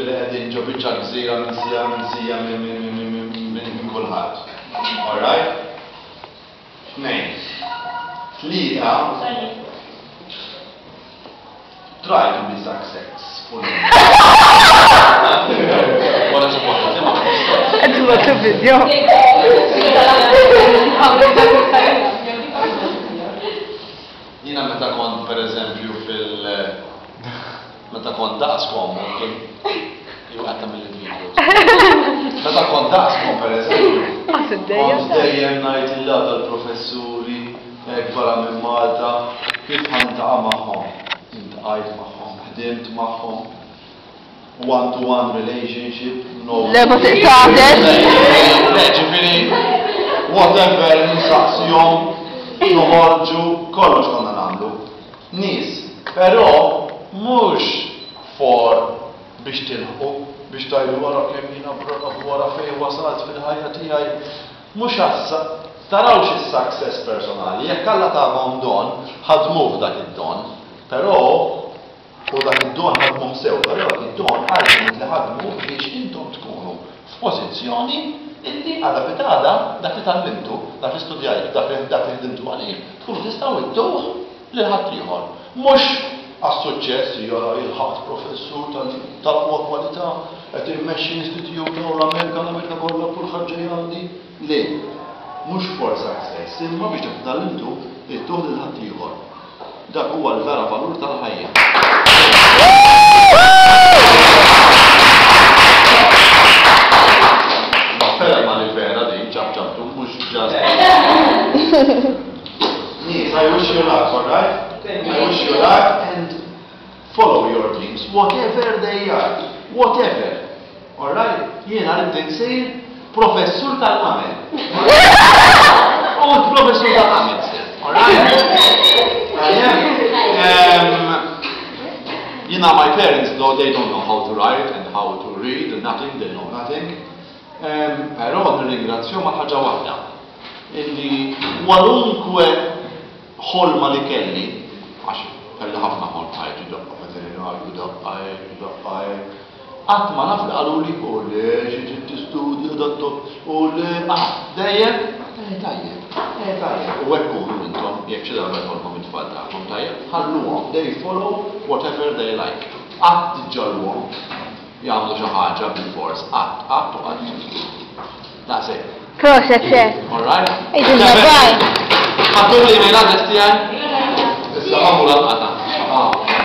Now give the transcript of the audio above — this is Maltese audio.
li qegħdin ġo biċċa gżira minsija minsija minn kulħadd. Alright? Tnejn. Tlieta. Try to be successful. Wara xi Qed tibgħatu video. Jiena meta kont pereżempju fil meta kont daqskom, jew qed tagħmel il-video. Meta kont daqskom pereżempju, kont dejjem ngħid il dal-professuri hekk barra minn Malta kif ħa niltaqa' magħhom. Iltqajt magħhom, ħdimt magħhom, one to one relationship, no. Le ma tiqtatex. Le, ġifieri whatever nsaqsihom, noħorġu, kollox konna nagħmlu. Nies, però mhux for biex tilħqu, biex tgħidu wara kemm jiena brav wara fejn wasalt fil-ħajja tiegħi. Mhux għas tarawx is-success personali, jekk Alla tagħhom don, ħadmuh dak id-don. Però u dak id-don ħadmuh sew, però dak id-don ultimately ħadmuh biex intom tkunu f'pożizzjoni illi għada pitgħada dak li tgħallimtu, dak li studjajtu, dak li dak li ħdimtu għalih, tkunu tistgħu ittuh lil ħaddieħor. Mhux għas-suċċess, jara ilħaqt professur tal-aqwa kwalità, qed immexxi istitute u l-Amerika, l-Amerika kollha kulħadd ġej għandi. Le, mhux for success, imma biex dak li tgħallimtu ittuh lil ħaddieħor. Dak huwa l-vera valur tal-ħajja. Ferma li vera din ċapċaptu mhux just. Nies, I wish you luck, all right? I wish you luck and follow your dreams, whatever they are, whatever. All right? Jiena rrid insir professur tal-qamel. U professur tal-qamel sir, all right? Um, you know, my parents, though, they don't know how to write and how to read and nothing, they know nothing. Um, però nirringrazzjahom għal ħaġa waħda. Illi kwalunkwe ħolma li kelli, għax kelli ħafna ħolm ħajti daqqa veterinarju, daqqa hekk, daqqa hekk. Qatt ma naf li qaluli, u le xi trid tistudja dat-top, u le, ah, dejjem, eh tajjeb, eh tajjeb. U hekk kunu intom, jekk xi darba jkollkom it-tfal tagħkom tajjeb, ħalluhom, they follow whatever they like. Qatt tiġġagħluhom jagħmlu xi ħaġa bil-fors, qatt, qatt u qatt. Daqshekk. Proset, sir. All right? Għidilna bye. Ħadtu l-email address tiegħi? Issa ħammu lanqas.